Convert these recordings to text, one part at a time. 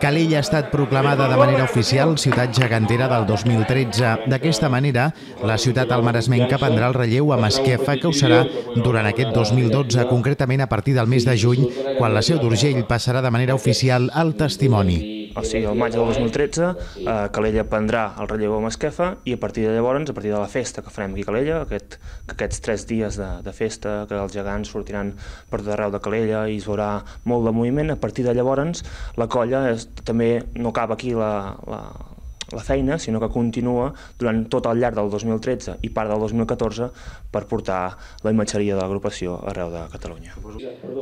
Calella ha estat proclamada de manera oficial ciutat gegantera del 2013. D'aquesta manera, la ciutat almaresmenca prendrà el relleu a Masquefa, que ho serà durant aquest 2012, concretament a partir del mes de juny, quan la Seu d'Urgell passarà de manera oficial al testimoni. O sigui, al maig del 2013, Calella prendrà el relleu a Masquefa i a partir de llavors, a partir de la festa que farem aquí a Calella, aquests 3 dies de festa, que els gegants sortiran per tot arreu de Calella i es veurà molt de moviment, a partir de llavors la colla també no acaba aquí la feina, sinó que continua durant tot el llarg del 2013 i part del 2014 per portar la imatgeria de l'agrupació arreu de Catalunya.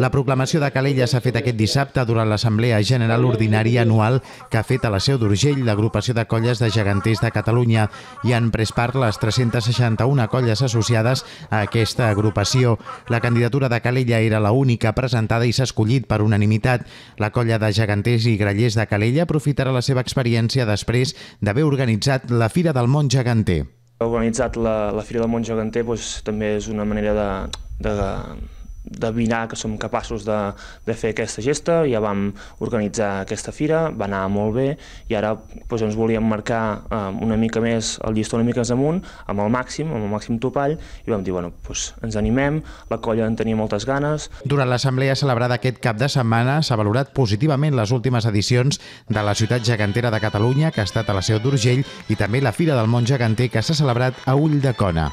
La proclamació de Calella s'ha fet aquest dissabte durant l'Assemblea General Ordinària anual que ha fet a la Seu d'Urgell l'agrupació de colles de geganters de Catalunya. Hi han pres part les 361 colles associades a aquesta agrupació. La candidatura de Calella era l'única presentada i s'ha escollit per unanimitat. La colla de geganters i grallers de Calella aprofitarà la seva experiència després d'haver organitzat la Fira del Món Geganter. Organitzat la Fira del Món Geganter també és una manera d'endevinar que som capaços de fer aquesta gesta. Ja vam organitzar aquesta fira, va anar molt bé i ara ens volíem marcar una mica més el llistó una mica més amunt, amb el màxim topall, i vam dir, ens animem, la colla en tenia moltes ganes. Durant l'assemblea celebrada aquest cap de setmana s'ha valorat positivament les últimes edicions de la ciutat gegantera de Catalunya, que ha estat a la Seu d'Urgell, i també la Fira del Món Geganter, que s'ha celebrat a Ulldecona.